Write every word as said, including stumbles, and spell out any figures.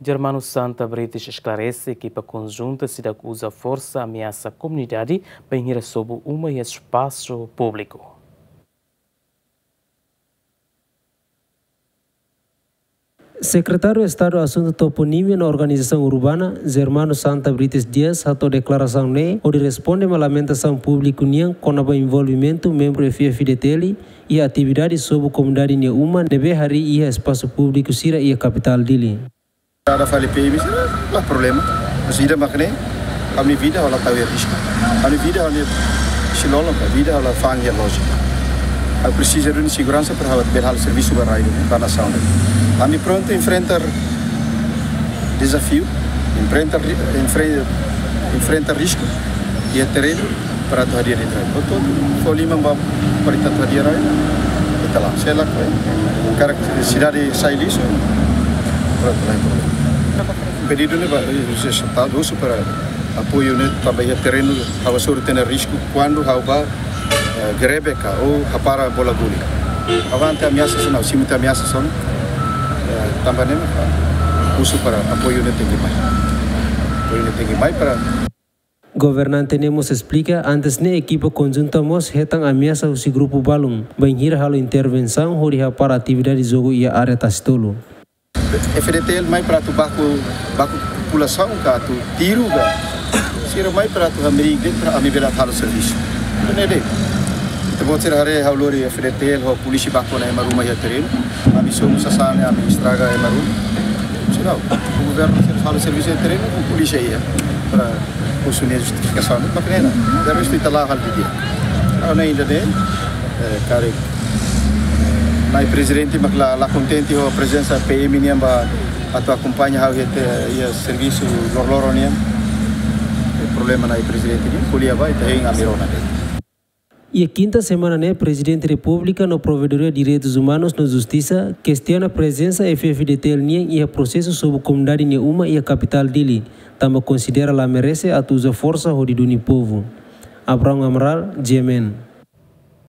Germano Santa Brites esklarese ekipa konjunta seidauk uza forsa ameasa komunidade bainhira sobu uma iha espasu públiku. Sekretáriu Estadu Asuntu Toponímia no Organizasaun Urbana, Germano Santa Brites Dias, hato'o deklarasaun ne'e hodi responde ba lamentasaun públiku nian kona-ba envolvimentu membru F F D T L iha atividade sobu komunidade nia uma ne'ebé harii iha espasu públiku sira iha kapitál Dili. Kada fali P M sira, la problema. Mas ida mak ne'e, ami vida ha'u la tau iha risku. Ami vida ha'u-nia xilolo, vida ha'u la fa'an iha loja. Ha'u presiza duni seguransa para ha'u bele halo servisu ba rai, ba nasaun. Ami prontu enfrenta dezafiu, enfrenta ri-, enfre-, enfrenta risku iha terrenu para atu hadi'a de'it rai. Portantu, fó liman ba para ita atu hadi'a rai, ita la'o. Se lakohi, karik sidade sai lixu, prontu, la iha problema. Pedidu ne'e ba, eh, se está dosu para apoiu ne'e tanba iha terrenu, ha'u hasoru tiha ona risku, kuandu ha'u bá, eh, grebe ka, ou hapara bola gulik. Ha'u la hatene ameasa sira, simu tiha ameasa sira, eh, tanba ne'e, husu para apoiu ne'e tenke mai. Apoiu ne'e tenke mai para Governante ne'e mós esplika, antes ne'e ekipa konjunta mós hetan ameasa husi grupu balun, bainhira halo intervensaun hodi hapara atividade jogu iha área Tasitolu. F D T L mai para atu baku, baku populasaun ka atu tiru ka. Sira mai para atu hamriik de'it para ami bele halo servisu. Ne'e de'it. Ita-boot sira haree ha'u lori F D T L ho polísia baku ona ema ruma iha terrenu. Ami sobu sasán ne'e, ami estraga ema ruma. Sira, governu sira halo servisu iha terrenu, ho polísia iha. Para husu nia justifikasaun, mak ne'e. De restu ita la'o halo didi'ak. Ha'u-nia ida-ne'e, eh, karik Na'i Prezidente mak la, la kontente ho prezensa P M nian ba atu akompaña ha'u iha te, iha servisu loroloron nian. Eh, problema Na'i Prezidente nian, ko'alia ba, ita hein ami rona de'it. Iha kinta semana ne'e, Prezidente Repúblika no Provedoria Direitus Umanus no Justisa kestiona prezensa F F D T L nian iha prosesu sobu komunidade nia uma iha kapitál Dili, tanba konsidera la merese atu uza forsa hodi duni povu. Abrão Amaral, G M N.